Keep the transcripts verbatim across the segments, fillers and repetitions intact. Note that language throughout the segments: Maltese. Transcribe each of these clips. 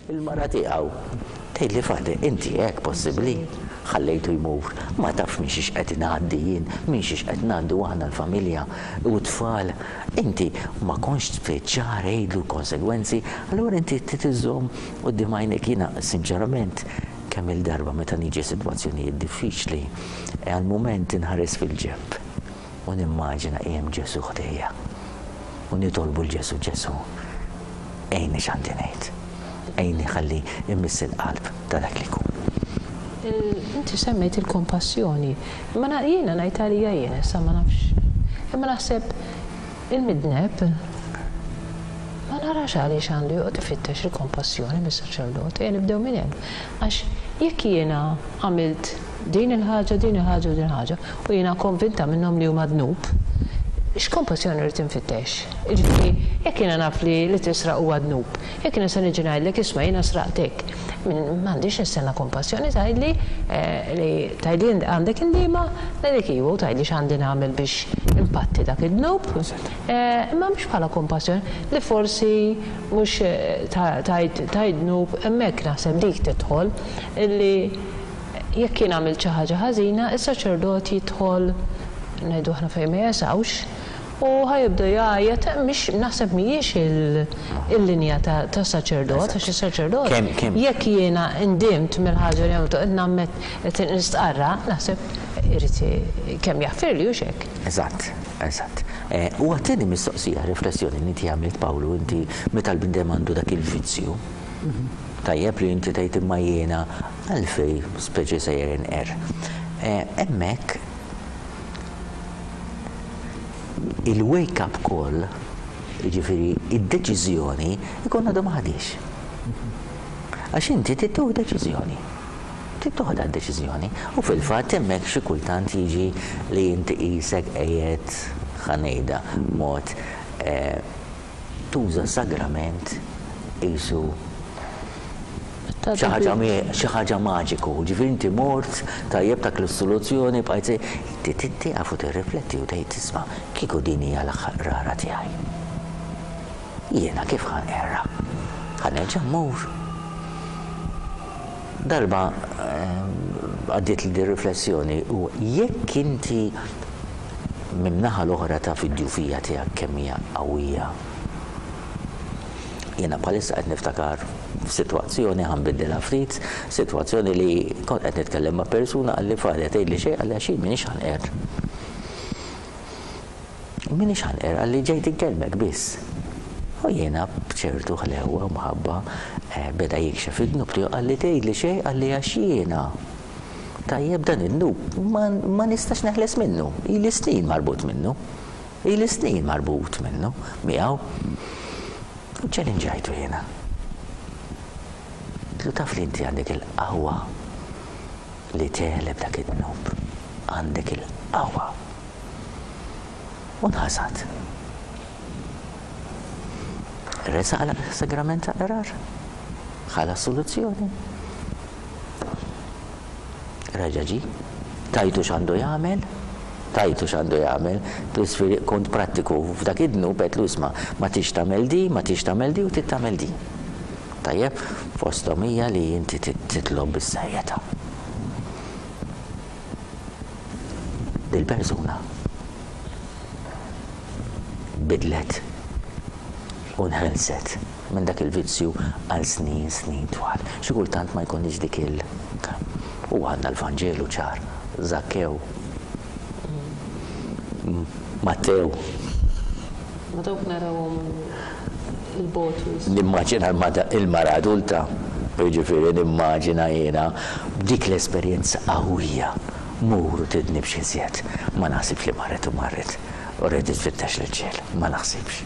Il-mara tiegħu tgħidli, "Father, inti hekk possibbli? Ħallejtu jmur, ma tafx minn xiex qed ngħaddi jien, minn xiex qed ngħaddu aħna l-familja u t-tfal. Inti ma kontx tfittxar għidlu konsegwenzi, allura inti titiżżomm quddiem għajnek." Jiena sinċerament kemm il-darba meta niġi sitwazzjonijiet diffiċli, għal mument inħares fil-ġenb u nimmaġina hemm Ġesù ħdejja. U nitolbu 'l Ġesù, "Ġesù, għinni x'għandi ngħid. Għinni ħalli immiss il-qalb ta' dak li jkun." Inti semmejt il-kompassjoni. Ma jiena ngħid għalija jiena, issa ma nafx. Imma naħseb il-midneb ma narax għaliex għandu joqgħod ifittex il-kompassjoni mis-saċerdot, ejja nibdew minn hemm. Għax jekk jiena għamilt din il-ħaġa, din il-ħaġa u din il-ħaġa, u jiena konvinta minnhom li huma dnub, x'kompassjoni rrid infittex? Jiġifieri, jekk jiena naf li li tisraq huwa dnub, jekk jiena se niġi ngħidlek, "Isma', jiena sraqtek," m'għandix nistenna kompassjoni, tgħidli eh, li tgħidli għandek indiema, ngħidlek iva, u tgħidli x'għandi nagħmel biex impatti dak id-dnub. Eh, imma mhux bħala kompassjoni li forsi mhux eh, tgħid dnub, hemmhekk naħseb dik tidħol illi jekk jien għamilt xi ħaġa ħażina, is-saċerdot jidħol, ngħidu aħna, fejn ma jesgħux u ħa jibda jgħajjat, mhix naħseb mhijiex il-linja ta' saċerdot, għax is-saċerdot jekk jiena ndimt mill-ħaġa li għamiltu, qed nammet, qed nistqarra, naħseb irid kemm jaħfirli u xek. Eżatt, eżatt. Eh, u għat-tieni mistoqsija, riflessjoni li inti għamilt, Pawlu, inti meta l-bniedem għandu dak il-vizzju, tajjeb li inti tgħid imma jiena għalfej speċi sejjer inqer. Eh, hemmhekk il-wake-up call, jiġifieri id-deċiżjoni, ikun għadu ma ħadhiex. Għax inti tieħu deċiżjoni. Tieħu deċiżjoni. U fil-fatt hemmhekk xi kultant jiġi li inti qisek qiegħed, ħa ngħidha mod, eh, tuża sagrament qisu xi ħaġa maġiku, ġifieri inti mort tajjeb tak l-soluzzjoni, bqajt inti tieqaf u tirrifletti u tgħid, "Isma', kieku din hija l-aħħar rara tiegħi. Jiena kif ħa nqerrha? Ħa nerġa' mmur?" Darba eh, għaddiet li di riflessjoni u jekk inti min-naħa l-oħra ta' fid-djufija tiegħek kemm hija qawwija. Jiena bħalissa qed niftakar f'sitwazzjoni, ħa nbiddilha ftit, sitwazzjoni li kont qed nitkellem ma' persuna, qalli, "Father, tgħidli xejn," qalli, "għax m'iniex ħa nqerr. M'iniex ħa nqerr," qalli, "ġejt inkellmek biss." U jiena b'ċertu ħlewa u mħabba eh, beda jikxef id-dnub tiegħu, qalli, "Tgħidli xejn," qalli, "għax jiena tajjeb dan id-dnub ma, ma nistax neħles minnu, ili snin marbut minnu. Ili snin marbut minnu, miegħu." U ċellinġajtu jiena. Għedtlu, "Taf li inti għandek il-qawwa li tegħleb dak id-dnub. Għandek il-qawwa." U nħasad. Resaq għal sagrament ta' qrar. Ħa l-assoluzzjoni. Reġa' ġie. Tajtu x'għandu jagħmel, tajtu x'għandu jagħmel, plus kont prattiku f'dak id-dnub, għedtlu, "Isma', ma tix tagħmel di, ma tix tagħmel di u trid tagħmel di. Tajjeb, fosthom hija li inti titlob bis-serjetà." Dil-persuna bidlet u nħelset minn dak il-vizzju għal snin, snin twal. Xi kultant ma jkunx dik il- U għandna l-Vanġelu ċar, Zakkew, Mattew. Ma dawk narawhom il-bot. Nimmaġina il-mara adulta, jiġifieri nimmaġina jiena dik l-esperjenza qawwija. Mur u tidnibx iżjed. Ma naħsibx li marret u marret. U reġgħet tfittex l-ċel. Ma naħsibx.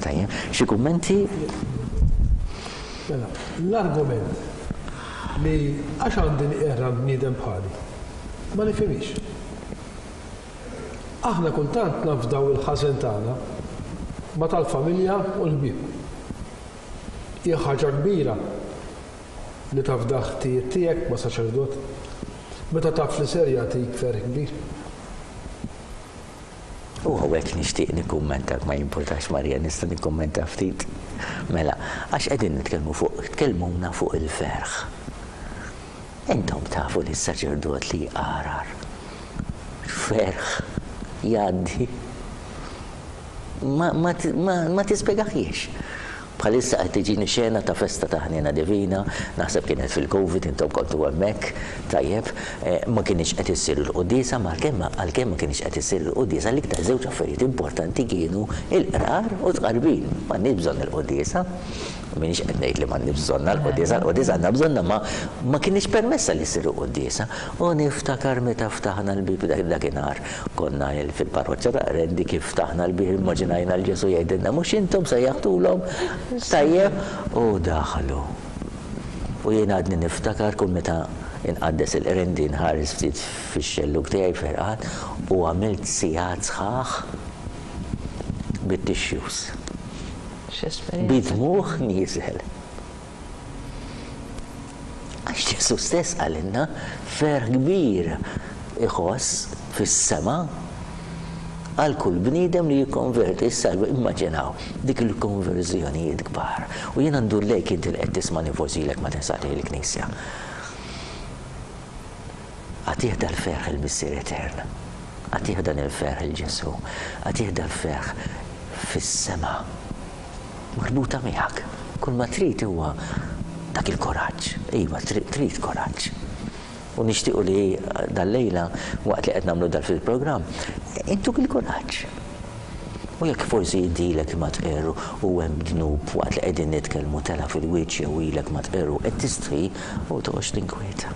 Tajjeb, xi kummenti? Mela, l-argument li għax għandi nqerr bniedem bħali, ma nifhimix. Aħna kultant nafdaw il-ħażen tagħna ma tal-familja u l-ħbieb. Hija ħaġa kbira li tafda ħtijiet tiegħek ma' saċerdot meta taf li ser jagħtik ferħ kbir. U hawnhekk nixtieq nikkummenta, ma jimpurtax Marija, nista' nikkummenta ftit. Mela, għax qegħdin nitkellmu fuq, tkellmuna fuq il-ferħ. Intom tafu li s-saċerdot li jqarar. Ferħ jgħaddi. Ma, ma, ma, ma tispjegaħiex. Bħalissa qed tiġini xena ta' festa ta' ħniena divina, naħseb kienet fil-Covid, intom kontu hemmhekk, tajjeb, ma kienx qed issir il-quddiesa, ma għalkemm għalkemm ma kienx qed issir il-quddiesa, l-iktar żewġ affarijiet importanti kienu il-qrar u tqarbin. M'għandniex bżonn il-quddiesa. M'iniex qed ngħid li m'għandniex bżonna l-quddiesa, l-quddiesa għandna bżonna, ma ma kienx permessa li ssir il-quddiesa. U niftakar meta ftaħna l-bieb dakinhar, konna fil-parroċċa ta' Qrendi, kif ftaħna l-bieb immaġinajna l Ġesu jgħidilna mhux intom sejjaħtulhom, tajjeb, u daħlu. U jien għadni niftakar kull meta inqaddes il-Qrendi nħares ftit fix-xellug tiegħi ferqat u għamilt sigħat sħaħ bit-tissues. Bidmuħ nieżel. Għax Ġesu stess qalilna ferħ kbir iħoss fis-sema għal kull bniedem li jikkonverti. Issa immaġinaw dik il-konverżjonijiet kbar. U jiena ndur lejk inti li qed tismani, forsi ilek ma tinsaqli l-Knisja. Għatih dal-ferħ il-Missier Etern. Għatih dan il-ferħ il-Ġesu. Għatih dal-ferħ fis-sema. Marbuta miegħek. Kull ma trid huwa dak il-kuraġġ. Iva, trid kuraġġ. U nixtiequ li dal-lejla, waqt li qed nagħmlu dal fil-programm, intuk il-kuraġġ. U jekk forsi idilek ma tqerru u hemm dnub waqt li qegħdin nitkellmu tela fil-wiċċ jew ilek ma tqerru qed tistħi, u toqgħodx tinkwieta.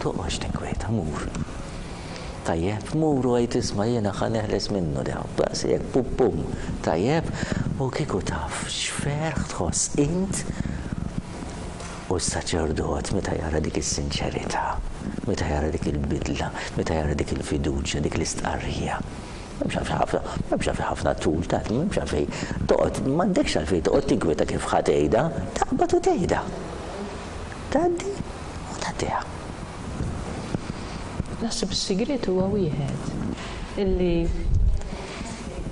Toqgħodx tinkwieta, mur. Tajjeb, mur u għid isma' jiena ħa neħles minnu daw, daqshekk pum pum. Tajjeb, u kieku taf x'ferħ tħoss int u s-saċerdot meta jara dik is-sinċerità, meta jara dik il-bidla, meta jara dik il-fiduċja, dik l-istqarrija. M'hemmx għalfejn ħafna, m'hemmx għalfejn ħafna tul ta' m'hemmx għalfejn toqgħod, m'għandekx għalfejn toqgħod tinkwieta kif ħa tgħidha, taqbad u tgħidha. Tgħaddi u tgħaddiha. Naħseb is-sigriet huwa wieħed illi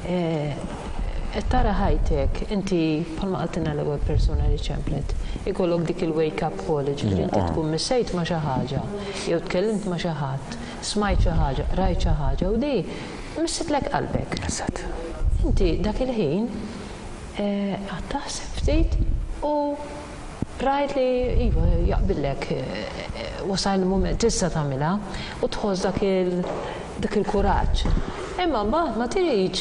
qed tara ħajtek, inti bħalma qaltilna l-ewwel persuna li ċemplet, ikollok dik il-wake up call, ġifieri inti tkun missejt ma' xi ħaġa, jew tkellimt ma' xi ħadd, smajt xi ħaġa, rajt xi ħaġa u di missitlek qalbek. Eżatt. Inti dak il-ħin qed taħseb ftit u rajt li iva jaqbillek, wasal il-mument tista' tagħmilha u tħoss dak il dak il-kuraġġ. Imma mbagħad ma tridx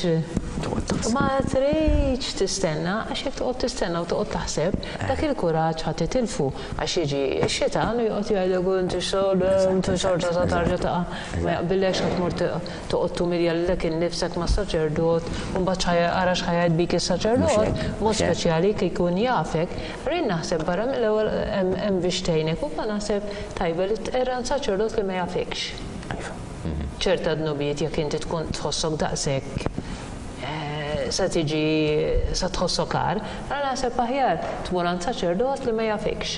ma tridx tistenna, għax jekk toqgħod tistenna u toqgħod taħseb, dak il-kuraġġ ħadd titilfu, għax jiġi x-xitan u joqgħod jgħidlek inti xogħol, inti xorta ta' tarġa taqa', ma jaqbillekx ħadd tmur toqgħod tumilja lilek innifsek mas-saċerdot, u mbagħad ara x'ħa jgħid bik is-saċerdot, mod speċjali kif jkun jafek. Rrid naħseb barra mill-ewwel hemm biex tgħinek u naħseb tajba li tqerra saċerdot li ma jafekx. Ċerta dnubiet jekk inti tkun tħossok daqshekk sa tiġi sa tħossok agħar, allura naħseb aħjar tmur għand saċerdot li ma jafekx.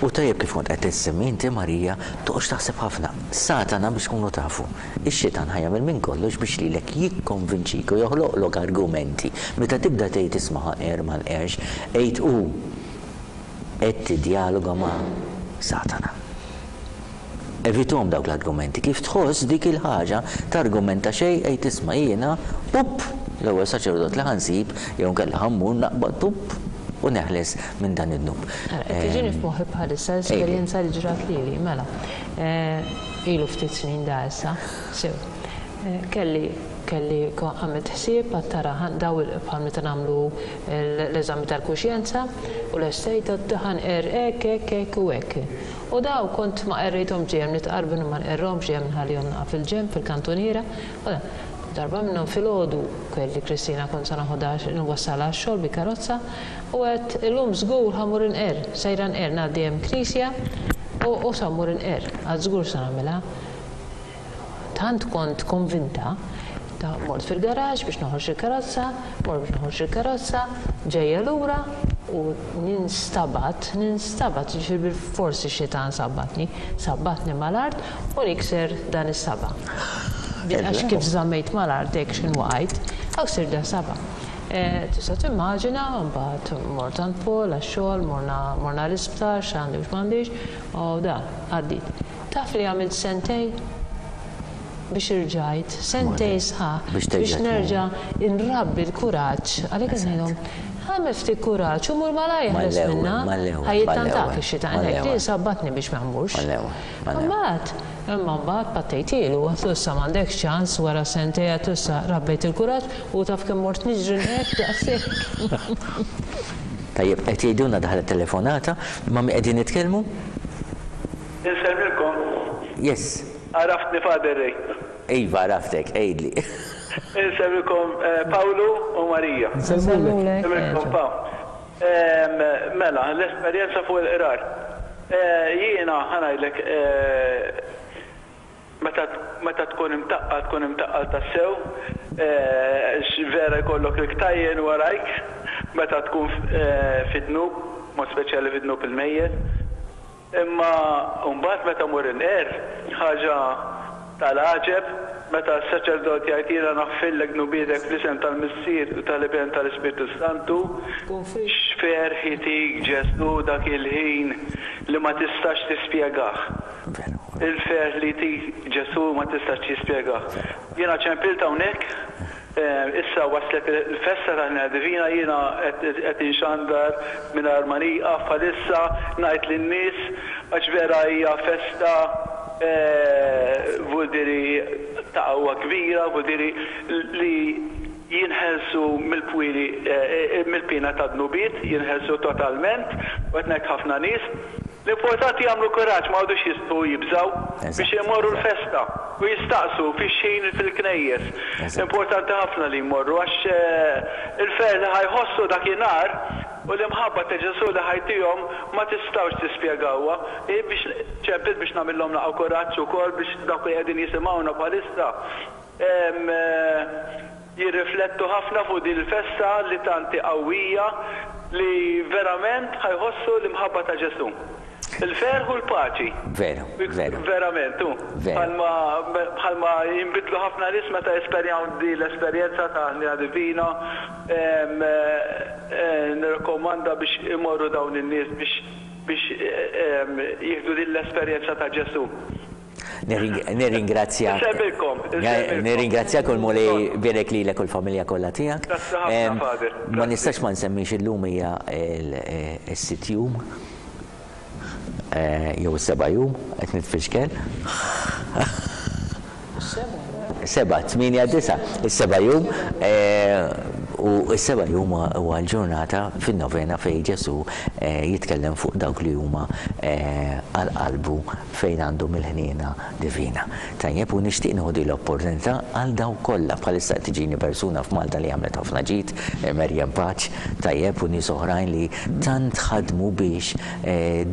U tajjeb kif kont qed tissemmi inti Marija, toqgħodx taħseb ħafna. Satana biex tkunu tafu, ix-xitan ħa jagħmel minn kollox biex lilek jikkonvinċik u joħloqlok argumenti. Meta tibda tgħid isma' ħa nqer ma nqerx, għid hu qed tiddialoga ma' Satana. Evitom dawk l-argumenti. Kif tħoss dik il-ħaġa targumenta xejn, għid isma' jiena, pup, l-ewwel saċerdot li ħansib jew nkella ħammur naqbad pup u neħles minn dan id-dnub. Tiġini f'moħħi bħalissa esperjenza li ġrat lili, mela. Ilu ftit snin da issa, sew. Kelli kelli għamilt ħsieb għad tara daw bħal meta nagħmlu l-eżami tal-kuxjenza u l-estejt ħanqer hekk hekk hekk u hekk. U daw kont ma qerrejthom ġejjem nitqarbin u ma nqerrhomx ġejjem nħallihom naqa' fil-ġenb fil-kantuniera. Darba minnhom filgħodu kelli Kristina kont sa naħodha nwassalha għax-xogħol bi karozza u għedt illum żgur ħa mmur inqer, sejra nqer ngħaddi hemm knisja u sa mmur inqer, għad żgur sa nagħmilha. Tant kont konvinta, ta' mort fil-garaġ biex noħroġ il-karozza, mort biex noħroġ il-karozza, ġejja lura u ninstabat, ninstabat, ġifieri bil-forsi xitan sabbatni, sabbatni mal-art u nikser dan is-saba. Għax kif żammejt mal-art hekk x'inhu waqajt, hawn sirda saba'. Tista' timmaġina, mbagħad mort għand Paul għax-xogħol, morna l-isptar, x'għandi u x'm'għandix, u da, għaddiet. Taf li għamilt sentej biex irġajt, sentej sħaħ biex nerġa' nrabbi l-kuraġġ, għalhekk qed ngħidhom, għamel ftit kuraġġ u mur malajr ħles minna. Ħa jittantak ix-xitan hekk li sabbatni biex ma mmurx. Mbagħad, imma mbagħad pattejtielu, għatlu issa m'għandekx ċans wara sentej għatlu issa rabbejt il-kuraġġ u taf kemm mort niġri hekk daqshekk. Tajjeb, qed jgħidulna daħlet telefonata, ma' min qegħdin nitkellmu? Insellmilkom. Yes. Għaraftni Father Ray. Iva, għaraftek, għidli. Insellmilkom Pawlu u Marija. Insellmulek. Insellmilkom Paw. Mela, l-esperjenza fuq il-qrar. Jiena ħa ngħidlek meta tkun imtaqqal, tkun imtaqqal tassew, vera jkollok il-ktajjen warajk, meta tkun fid-dnub, mod speċjali fid-dnub il-mejjet. Imma mbagħad meta mur inqer, ħaġa tal-għaġeb, meta s-saċerdot jgħid jiena naħfillek dnubietek fl-isem tal-Missier u tal-Iben tal-Ispirtu Santu, x'ferħ itik Ġesù dak il-ħin li ma tistax tispjegah. Il-ferħ li jtik Ġesù ma tistax tispjegah. Jiena ċempilt hawnhekk, issa waslet il-festa tal-Ħniena Divina, jiena qed inxandar mingħajr ma nieqaf bħalissa ngħid lin-nies għax vera hija festa vuldiri ta' qawwa kbira, vuldiri li jinħelsu mill-pwili mill-pina ta' dnubiet, jinħelsu totalment, u qed ngħid ħafna nies. L-importanti jagħmlu kuraġġ, ma għadux jistgħu jibżgħu biex imorru l-festa u jistaqsu fix-xejn fil-knejjes. Importanti ħafna li jmorru għax il-ferħ li ħajħossu dakinhar u l-imħabba ta' Ġesù li ħajtihom ma tistgħux tispjegawha. Biex ċempit biex nagħmilhom naqgħu kuraġġ ukoll biex dawk li qegħdin jisimgħuna bħalissa jirriflettu ħafna fuq din il-festa li tanti qawwija li verament ħajħossu l-imħabba ta' Ġesù. Il-ferħ u l-paċi. Veru, veru. Verament, u. Bħalma jinbidlu ħafna nies meta jesperjaw di l-esperjenza ta' Ħniena Divina, nirrakkomanda biex imorru dawn in-nies biex jieħdu din l-esperjenza ta' Ġesù. Nirringrazzjak. Nirringrazzjak u l-Mulej bierek lilek u l-familja kollha tiegħek. Ma nistax ma nsemmix illum hija s-sitt jum jew is-seba' jum, qed nitfixkel. Seba', tmienja, disa', is-seba' jum u s-seba' jum huwa l-ġurnata fin-novena fejn Ġesù jitkellem fuq dawk li huma għal qalbu fejn għandhom il-ħniena divina. Tajjeb, u nixtieq nieħu din l-opportunità għal dawk kollha bħalissa qed tiġini persuna f'Malta li għamlet ħafna ġid, Merjem Paċ, tajjeb, u nies oħrajn li tant ħadmu biex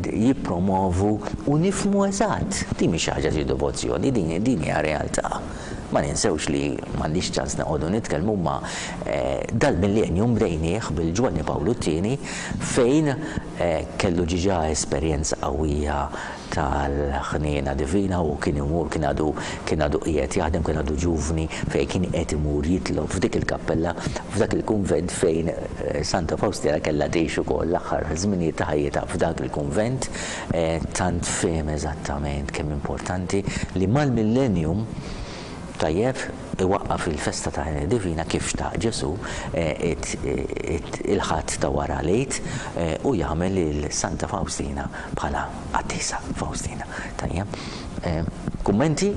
jippromovu u nifhmu eżatt. Din mhix xi ħaġa xi devozzjoni, din hija realtà. Ma ninsewx li m'għandix ċans noqogħdu nitkellmu ma dal-millennium bdejnieh bil-Ġwanni Pawlu t-tieni fejn kellu ġiġa esperjenza qawwija tal-ħniena divina u kien imur, kien għadu kien għadu qiegħed jaħdem, kien għadu ġuvni fejn kien qed imur jitlob f'dik il-kappella, f'dak il-kunvent fejn Santa Faustina kellha tgħix ukoll l-aħħar żminijiet ta' ħajjitha f'dak il-kunvent, tant fehem eżattament kemm importanti li mal-millennium tajjeb iwaqqaf il-festa ta' Ħniena Divina kif xtaq Ġesù il-Ħadd ta' wara l-Għid u jagħmel lil Santa Faustina bħala qaddisa Faustina. Tajjeb. Kummenti?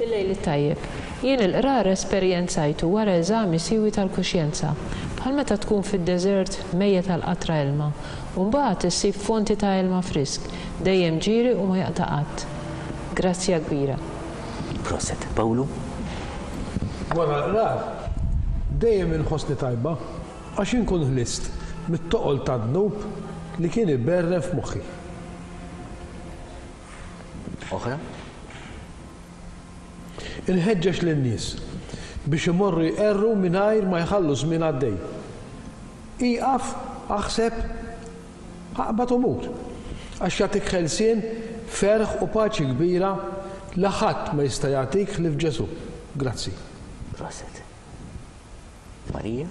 Il-lejl it-tajjeb. Jien il-qrar esperjenzajtu wara eżami siwi tal-kuxjenza, bħal meta tkun fid-deżert mejjet tal-qatra ilma, u mbagħad issib fonti ta' ilma frisk, dejjem ġieri u ma jaqta' qatt. Grazzja kbira. Proset. Pawlu? Wara l-qrar, dejjem inħossni tajba għax inkun ħlist mit-toqol ta' dnub li kien iberren f'moħħi. Oħra? Inħeġġeġ lin-nies biex imorru jqerru mingħajr ma jħallu żmien għaddej. Ieqaf, aħseb, aqbad u mur. Għax jagħtik ħelsien, ferħ u paċi kbira li ħadd ma jista' jagħtik ħlief Ġesù. Grazzi. Proset. Marija?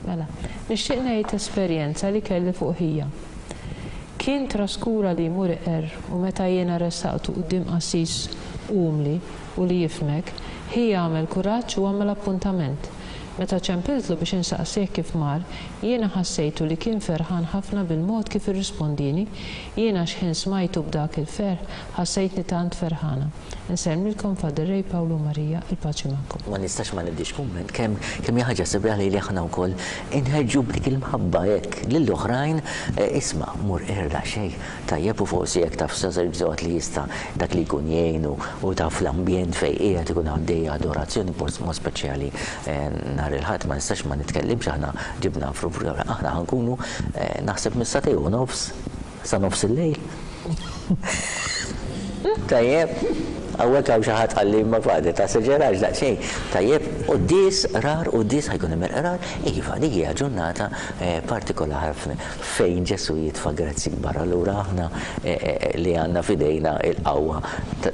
Mela, nixtieq ngħid esperjenza li kelli fuq ħija. Kien traskura li jmur iqerr u meta jiena ressaqtu quddiem qassis umli u li jifhmek, ħija għamel kuraġġ u għamel appuntament. Meta ċempiltlu biex insaqsih kif mar, jiena ħassejtu li kien ferħan ħafna bil-mod kif irrispondini, jiena x'ħin smajtu b'dak il-ferħ, ħassejtni tant ferħana. Insellmilkom Father Ray, Pawlu, Marija, il-paċi magħkom. Ma nistax ma nibdix kumment kemm kemm hija ħaġa sabiħa li li aħna wkoll inħeġġu b'dik il-mħabba hekk lill-oħrajn, isma' mur irda xejn tajjeb u forsi jekk taf saċerdot li jista' dak li jkun jgħinu u taf l-ambjent fejn qiegħed ikun għaddejja adorazzjoni mod speċjali nhar il-Ħadd ma nistax ma nitkellimx, aħna ġibna fru, aħna ħankunu naħseb mis-sagħtejn u nofs sa nofs il-lejl. Tajjeb, hawnhekk hawn xi ħadd qalli ma fadi ta' seġerax daqsxejn. Tajjeb, quddies qrar, quddies ħajkun hemm il-qrar, iva dik hija ġurnata partikolari ħafna fejn Ġesù jitfa' grazzi kbar. Allura aħna li għandna f'idejna il-qawwa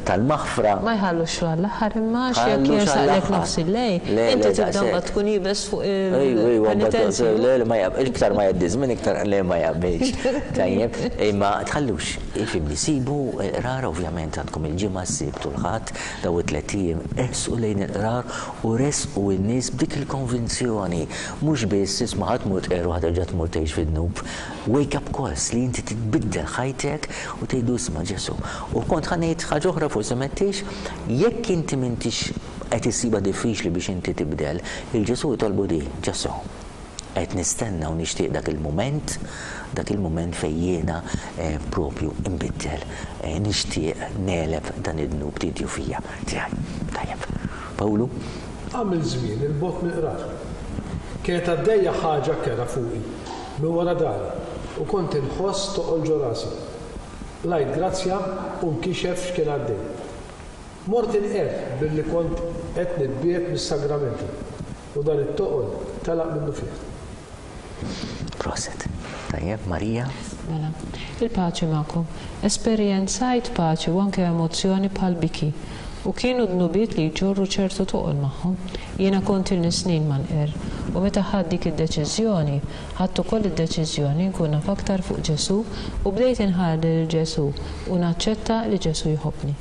tal-maħfra. Ma jħallux għall-aħħar imma għax jekk jersaqlek nofs il-lejl, inti tibda mbagħad tkun iebes fuq il-penitenza. Le, le, ma jaqbilx, iktar ma jgħaddi żmien iktar le ma jaqbilx. Tajjeb, imma tħallux, ifhimni, sibu l-qrar ovvjament għandkom il-ġimgħa, s-Sibt u l-Ħadd, daw it-tliet ijiem, ersqu lejn il-qrar u resqu n-nies b'dik il-konvinzjoni, mhux biss isma' ħadd mur tqerr u ħadd terġa' tmur tgħix fid-dnub. Wake up calls li inti titbiddel ħajtek u tgħidu isma' Ġesù. U kont ħa ngħid ħaġa oħra forsi m'għedtix, jekk inti m'intix qed issibha diffiċli biex inti tibdel, il-Ġesù jitolbu di, Ġesù, qed nistenna u nixtieq dak il-mument, dak il-mument fejn jiena propju nbiddel, nixtieq negħleb dan id-dnub tidju fija tiegħi. Tajjeb. Pawlu? Għamil żmien il-bogħod mill-qrar. Kienet għaddejja ħaġa kera fuqi minn wara dari u kont inħoss toqol ġo rasi. Lajt grazzja u nkixef x'kien għaddej. Mort inqerr billi kont qed nitbiegħed mis-sagramenti u dan it-toqol telaq minnu fih. Proset. Tajjeb, Marija? Mela, il-paċi magħkom. Esperjenzajt paċi u anke emozzjoni bħal biki. U kienu dnubiet li jġorru ċertu toqol magħhom. Jiena kont ilni snin ma nqerr. U meta ħadt dik id-deċiżjoni, ħadt ukoll id-deċiżjoni nkun naf aktar fuq Ġesù u bdejt inħalli lil Ġesù u naċċetta li Ġesù jħobbni.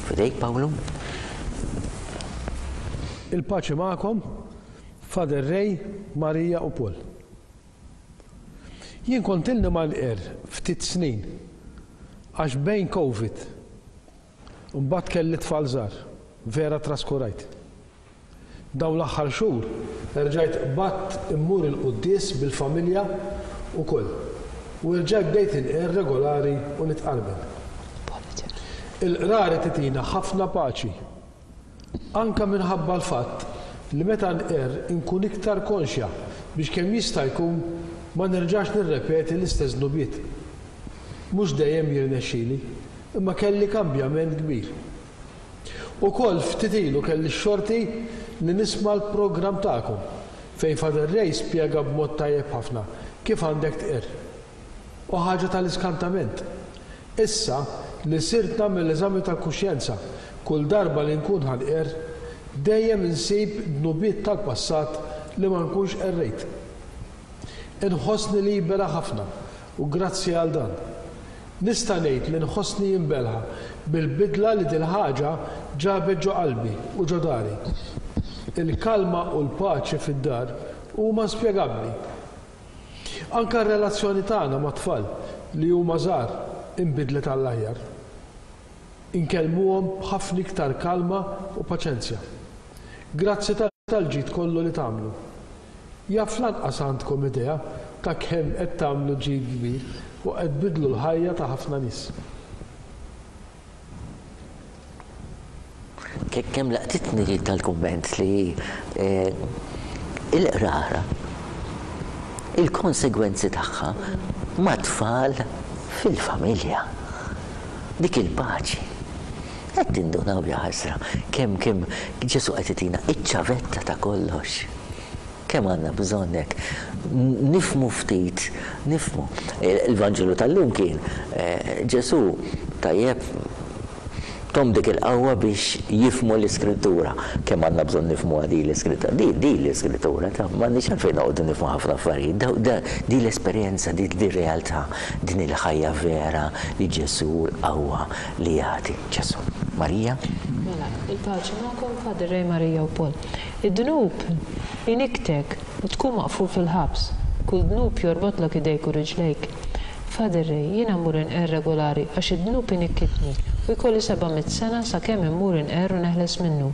Fidejk, Pawlu? Il-paċi magħkom, Father Ray, Marija u Paul. Jien kont ilni ma nqerr ftit snin għax bejn Covid u mbagħad kelli tfal żgħar, vera traskurajt. Dawn l-aħħar xhur erġajt qbadt immur il-quddies bil-familja ukoll u erġajt bdejt inqerr regolari u nitqarben. Il-qrari titina ħafna paċi, anka minħabba l-fatt li meta nqerr inkun iktar konxja biex kemm jista' jkun ma nerġax nirrepeti l-istess dnubiet. Mhux dejjem jirnexxieli, imma kelli kambjament kbir. Ukoll ftit ilu kelli x-xorti li nisma' l-programm tagħkom fejn Father Ray spjega b'mod tajjeb ħafna kif għandek tqerr. U ħaġa tal-iskantament. Issa li sirt nagħmel l-eżami tal-kuxjenza kull darba li nkun ħanqerr, dejjem insib dnubiet tal-passat li ma nkunx qerrejt. Inħossni libera ħafna u grazzi għal dan. Nista' ngħid li nħossni jimbelħa bil-bidla li dil-ħaġa ġabet ġo qalbi u ġo dari. Il-kalma u l-paċi fid-dar huma spjegabbli. Anka r-relazzjoni tagħna mat-tfal li huma żgħar inbidlet għall-aħjar. Inkellmuhom b'ħafna iktar kalma u paċenzja. Grazzi tal-ġid kollu li tagħmlu. Jaf lanqas għandkom idea ta' kemm qed tagħmlu ġid kbir u qed tbiddlu l-ħajja ta' ħafna nies. Kemm laqtitni tal-kumment li il-qrara, il-konsegwenzi tagħha mat-tfal fil-familja. Dik il-paċi. Qed tindunaw ja ħasra kemm kemm Ġesù qed itina iċ-ċavetta ta' kollox. Kemm għandna bżonnek nifhmu ftit, nifhmu. Il-Vanġelu tal-lum kien Ġesù tajjeb tom dik il-qawwa biex jifhmu l-Iskrittura. Kemm għandna bżonn nifhmu di l-Iskrittura. Di di l-Iskrittura, ta' m'għandniex għalfejn noqogħdu nifhmu ħafna affarijiet. Di l-esperjenza, di realtà, din il-ħajja vera li Ġesù l-qawwa li jagħti Ġesù. Marija? Mela, il-paċi magħkom, Father Ray, Marija u Paul. Id-dnub iniktek u tkun maqful fil-ħabs. Kull dnub jorbotlok idejk u riġlejk. Father Ray, jiena mmur inqer regolari għax id-dnub inikkitni u jkolli seba' mitt sena sakemm immur inqer u neħles minnu.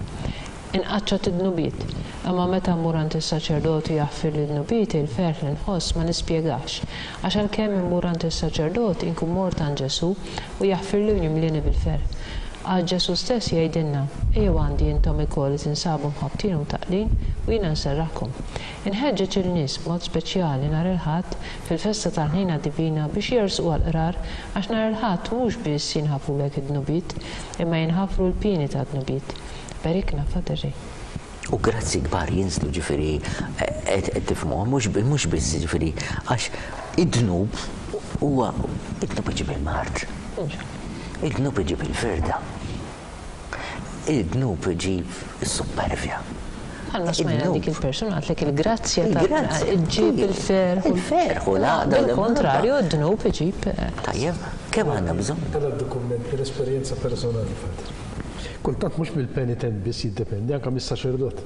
Inqaċċat id-dnubiet, imma meta mmur għand is-saċerdoti jaħfir li dnubieti il-ferħ li nħoss ma nispjegax, għax għalkemm immur għand is-saċerdot inkun mort għand Ġesù u jaħfirli u jimlieni bil-ferħ. Għax Ġesù stess jgħidilna, ejjew għandi intom ikoll li tinsabu mħabbtin u mtaqlin u jiena nserraħkom. Inħeġġeġ il-nies b'mod speċjali nhar il-Ħadd fil-festa tal-Ħnina Divina biex jersqu għall-qrar għax nhar il-Ħadd mhux biss jinħafrulek id-dnubiet, imma jinħafru l-pieni tad-dnubiet. Berikna, Father Ray. U grazzi kbar jinżlu ġifieri qed tifhmuha mhux biss ġifieri għax id-dnub huwa id-dnub iġib il-mard. Id-dnub iġib il-firda. Id-dnub iġib is-supervja. Għalma smajna dik il-persuna għatlek il-grazzja ta' iġib il-ferħ. Il-ferħ u l-għaqda. Bil-kontrarju, id-dnub iġib. Tajjeb, kemm għandna bżonn? Għandna dokument mill-esperjenza personali, Father. Kultant mhux mill-penitent biss jiddependi, anke mis-saċerdot.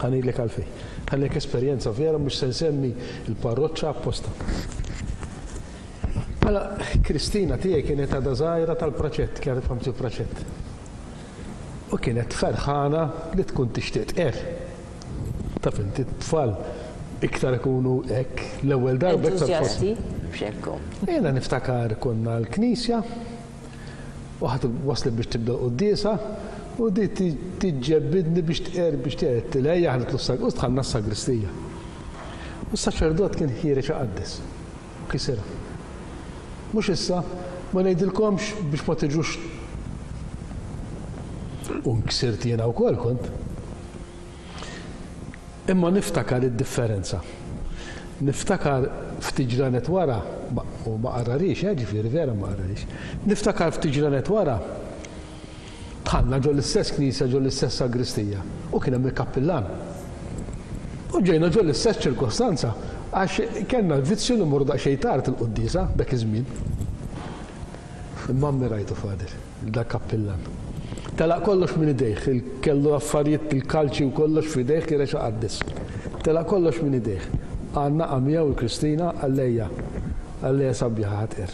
Ħa ngħidlek għalfejn. Ħa ngħidlek esperjenza vera mhux se nsemmi l-parroċċa apposta. Mela, Kristina tiegħi kienet għadha żgħira tal-praċett, kienet famti praċett. U kienet ferħana li tkun tixtieq tqer. Taf inti t-tfal iktar ikunu hekk l-ewwel darba iktar Entużjasti. Jiena niftakar konna l-knisja u ħadd waslet biex tibda l-quddiesa u di tiġġebbidni biex tqer biex tqer tilejja aħna tlu u dħalna s-sagristija. U s-saċerdot kien ħiereġ iqaddes u kisirha. Mhux issa, ma ngħidilkomx biex ma tiġux u nksirt jiena wkoll kont. Imma niftakar id-differenza. Niftakar ftit ġranet wara, u ma qarrarix, eh, ġifieri vera ma qarrarix. Niftakar ftit ġranet wara, dħalna ġo l-istess knisja, ġo l-istess sagristija, u kien hemm il-kappillan. U ġejna ġo l-istess ċirkostanza, għax kellna l-vizzju li mmorru daqsxejn tard il-quddiesa dak iż-żmien. Imma ammirajtu, Father, dak kappillan. Telaq kollox minn idejh, kellu affarijiet il-kalċi u kollox f'idejh kien rexa qaddis. Telaq kollox minn idejh. Għanna għamija u l-Kristina għallejja, għallejja sabiħa ħatqer.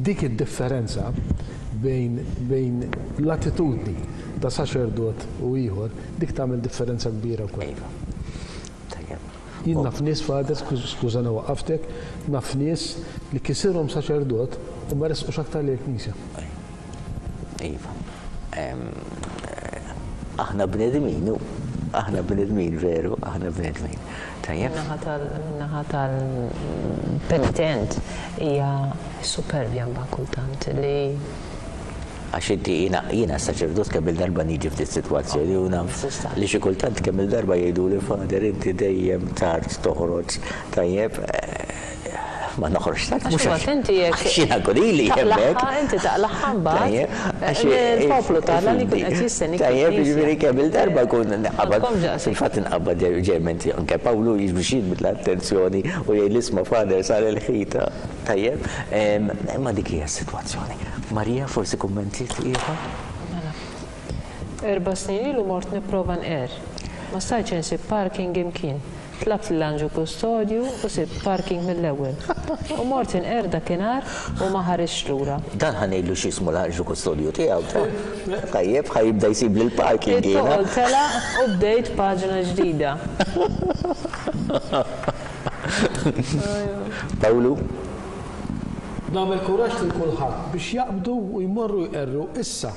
Dik id-differenza bejn, bejn l-attitudni ta' saċerdot u ieħor, dik tagħmel differenza kbira wkoll. Jien naf nies, Father, skużani waqaftek, naf nies li kisirhom saċerdot u ma resqux aktar lejn il-knisja. Iva. Aħna bnedmin, aħna bnedmin veru, aħna bnedmin. Tajjeb. Min-naħa tal-penitent hija superbja mbagħad kultant li għax inti jiena jiena saċerdot kemm il-darba niġi f'din sitwazzjoni u naf li xi kultant kemm il-darba jgħidu li Father inti dejjem tard toħroġ tajjeb ma noħroġ tard mhux għax inti jekk jiena ili hemmhekk. Inti taqlaħħa mbagħad il-poplu tagħna li jkun qed jistennik. Tajjeb, jiġifieri kemm il-darba kun nqabad fil-fatt inqabad ġerment anke Pawlu biex jiġbed l-attenzjoni u jgħid isma' Father sar il-ħita. Tajjeb, imma dik hija s-sitwazzjoni. Marija, forsi kummenti ieħor? Mela. Erba' snin ilu mort nipprova nqer. Ma stajtx insib parking imkien. Tlabt l-anġu kustodju u sib parking mill-ewwel. U mort inqer dakinhar u ma ħarisx lura. Dan ħa ngħidlu x'ismu l-anġu kustodju tiegħu. Tajjeb, ħa jibda jsib lil parking jiena. It-toqol tela' u bdejt paġna ġdida. Pawlu? Nagħmel kuraġġ lil kulħadd biex jaqbdu u jmorru jqerru issa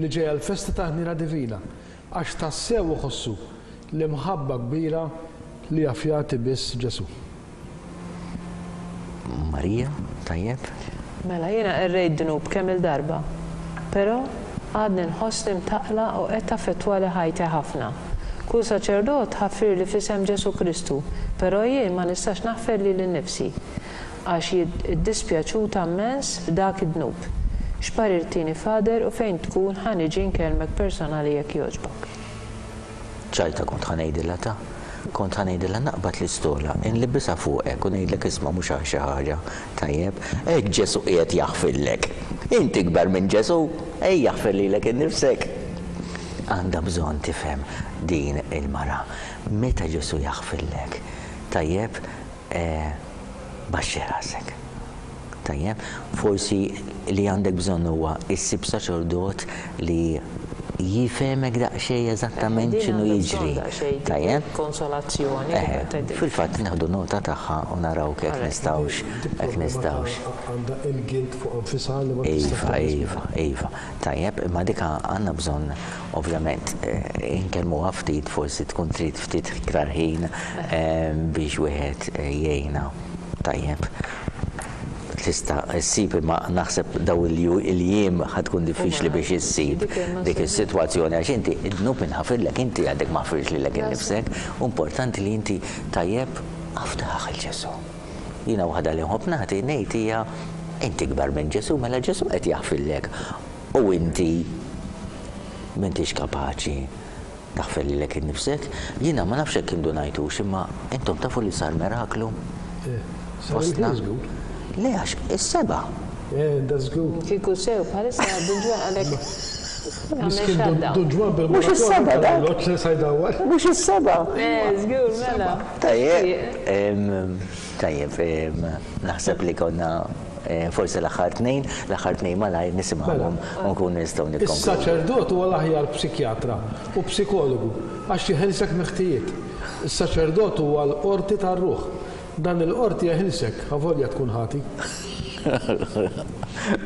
li ġejja l-festa ta' Ħnina Divina, għax tassew iħossu l-imħabba kbira li jaf jagħti biss Ġesù. Marija, tajjeb? Mela, jiena qerrejt dnub kemm il-darba, però għadni nħossni mtaqla u qed taffettwali ħajti ħafna. Kull saċerdot ħafirli f'isem Ġesù Kristu, però jien ma nistax naħfer lili nnifsi għax iddispjaċuta immens f'dak id-dnub. X'parir tini, Father, u fejn tkun ħa niġi nkellmek personali jekk jogħġbok? Ċajta kont ħa ngħidilha ta' kont ħa ngħidilha naqbad l-istola, inlibbisha fuqek u ngħidlek isma' mhux għal xi ħaġa. Tajjeb, hekk Ġesù qiegħed jaħfirlek. Inti ikbar minn Ġesù, ejja aħfer lilek innifsek. Għandha bżonn tifhem din il-mara. Meta Ġesù jaħfirlek, tajjeb, eh, baxxi rasek. Tajjeb, forsi li għandek bżonn huwa issib saċerdot li jifhemek daqsxejn eżattament x'inhu jiġri. Tajjeb? Konsolazzjoni. Fil-fatt nieħdu nota tagħha u naraw kif nistgħux, hekk nistgħux. Għandha il-guilt fuq nfisha li ma Iva, iva, iva. Tajjeb, imma dik għandna bżonn ovvjament inkellmuha ftit, forsi tkun trid ftit iktar ħin biex wieħed jgħinha. Tajjeb. Tista' ssib, imma naħseb daw il-jiem ħa tkun diffiċli biex issib dik is-sitwazzjoni għax inti id-dnub inħafirlek, inti għadek ma ħfirx lilek innifsek, importanti li inti tajjeb afdaħ il Ġesù. Jiena waħda li nħobb nagħti ngħid hija inti kbar minn Ġesù, mela Ġesù qed jaħfirlek u inti m'intix kapaċi taħfer lilek innifsek. Jiena ma nafx hekk indunajtux, imma intom tafu li sar miraklu. Fostna. Le, għax is-seba. Eh, that's good. Kieku sew, bħalissa Dun Ġwann għalek. Miskin Dun Ġwann bil Mhux is-seba dak. Mhux is-seba. Eh, żgur, mela. Tajjeb, tajjeb, naħseb li konna forsi l-aħħar tnejn, l-aħħar tnejn malajr nisimgħuhom u nkunu nistgħu nikkonkludu. Is-saċerdot huwa l-aħjar psikjatra u psikologu għax jeħilsek miħtijiet. Is-saċerdot huwa l-qorti tar-ruħ. Dan il-qorti jeħilsek, avolja tkun ħati.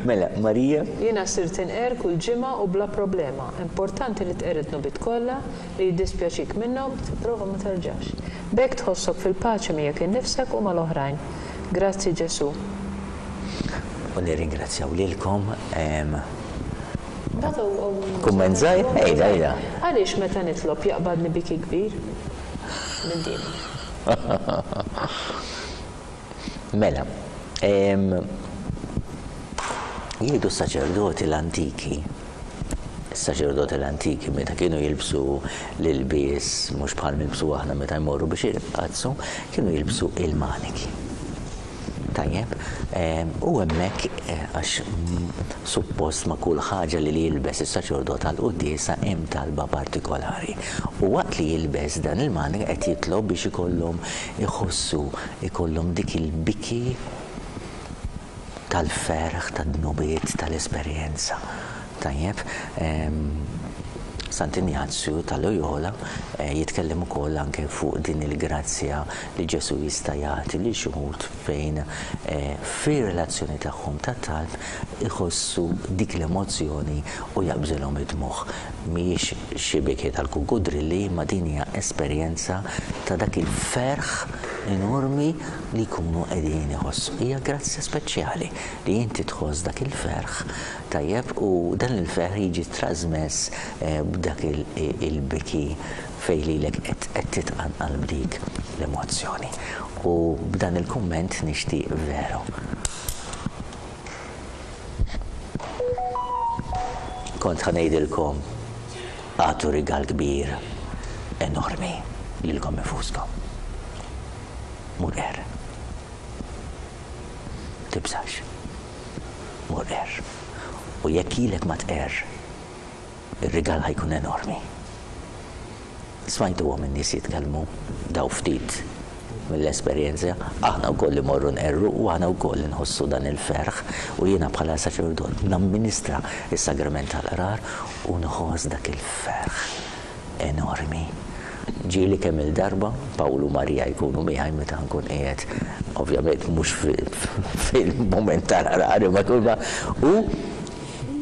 Mela, Marija? Jiena sirt inqer kull ġimgħa u bla problema. Importanti li tqer id-dnubiet kollha li jiddispjaċik minnhom, tipprova ma terġax. B'hekk tħossok fil-paċi miegħek innifsek u mal-oħrajn. Grazzi Ġesù. U nirringrazzjaw lilkom. Kumment żgħir? Ejda, ejda. Għaliex meta nitlob jaqbadni biki kbir? Minn din. Mela, jgħidu s-saċerdoti l-antiki, s-saċerdoti l-antiki meta kienu jilbsu l-ilbies, mhux bħal nilbsu aħna meta jmorru biex jirqazzu, kienu jilbsu il-maniki. Tajjeb, u hemmhekk għax suppost ma' kull ħaġa li jilbes is-saċerdot għall-quddiesa hemm talba partikolari. U waqt li jilbes dan il-manik qed jitlob biex ikollhom iħossu, ikollhom dik il-biki tal-ferħ, tad-dnubiet, tal-esperjenza. Tajjeb, Sant'Injazju ta' Loyola jitkellem ukoll anke fuq din il-grazzja li Ġesù jista' jagħti lil xi wħud fejn fir-relazzjoni tagħhom tat-talb iħossu dik l-emozzjoni u jaqbżilhom id-dmugħ. Mhijiex xi biki tal-kukudrilli, imma din hija esperjenza ta' dak il-ferħ enormi li jkunu qegħdin iħossu. Hija grazzja speċjali li inti tħoss dak il-ferħ, tajjeb, u dan il-ferħ jiġi trasmess b'dak il-biki fejn lilek qed titqanqal b'dik l-emozzjoni. U b'dan il-kumment nixtieq veru. Kont ħa ngħidilkom għatu rigal kbir enormi lilkom infuskom. Mur er. Tibżax. Mur er. U jekk ilek ma tqer, ir-rigal ħajkun enormi. Smajtuhom in-nies jitkellmu daw ftit mill-esperjenza, aħna wkoll imorru nqerru u aħna wkoll inħossu dan il-ferħ u jiena bħala saċerdot namministra is-sagrament tal-qrar u nħoss dak il-ferħ enormi. Ġieli kemm il-darba Pawlu Marija jkunu miegħi meta nkun qiegħed, ovvjament mhux fil-mument tal-qrar imma kull ma u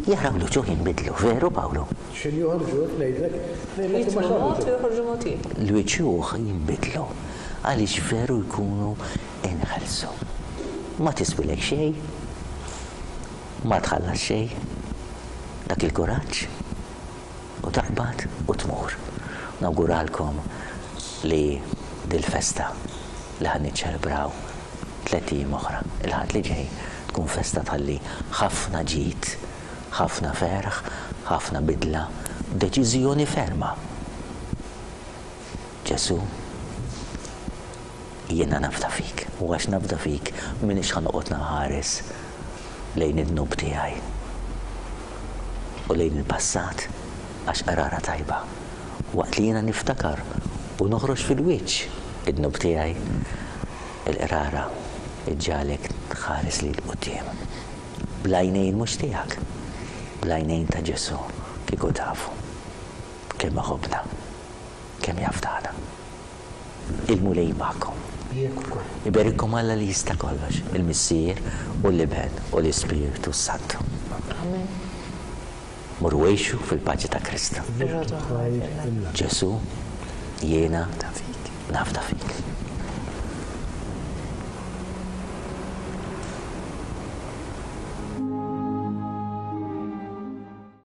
jaraw l-uċuħ jinbidlu, veru Pawlu? X'in joħorġu ngħidlek, ngħidlek ma joħorġu mod ieħor. L-uċuħ jinbidlu għaliex veru jkunu inħelsu. Ma tiswilek xejn, ma tħallas xejn, dak il-kuraġġ u taqbad u tmur. Nawguralkom li dil-festa li ħa niċċelebraw tlett ijiem oħra, il-Ħadd li ġej, tkun festa tħalli ħafna ġid, ħafna ferħ, ħafna bidla, deċiżjoni ferma. Ġesù, jiena nafda fik, u għax nafda fik m'iniex ħa noqgħod nħares lejn id-dnub tiegħi u lejn il-passat, għax qrara tajba. Waqt li jiena niftakar u noħroġ fil-wiċċ id-dnub tiegħi, il-qrara iġġagħlek tħares 'l quddiem. Bl-għajnejn mhux tiegħek, bl-għajnejn ta' Ġesù, kieku tafu kemm iħobbna, kemm jafdana. Il-Mulej magħkom. Iberikkom Alla li jista' kollox, il-Missier u l-Iben u l-Ispirtu Santu. Amen. Morru għixu fil-paċi ta' Kristu. Ġesù, jiena nafda fik.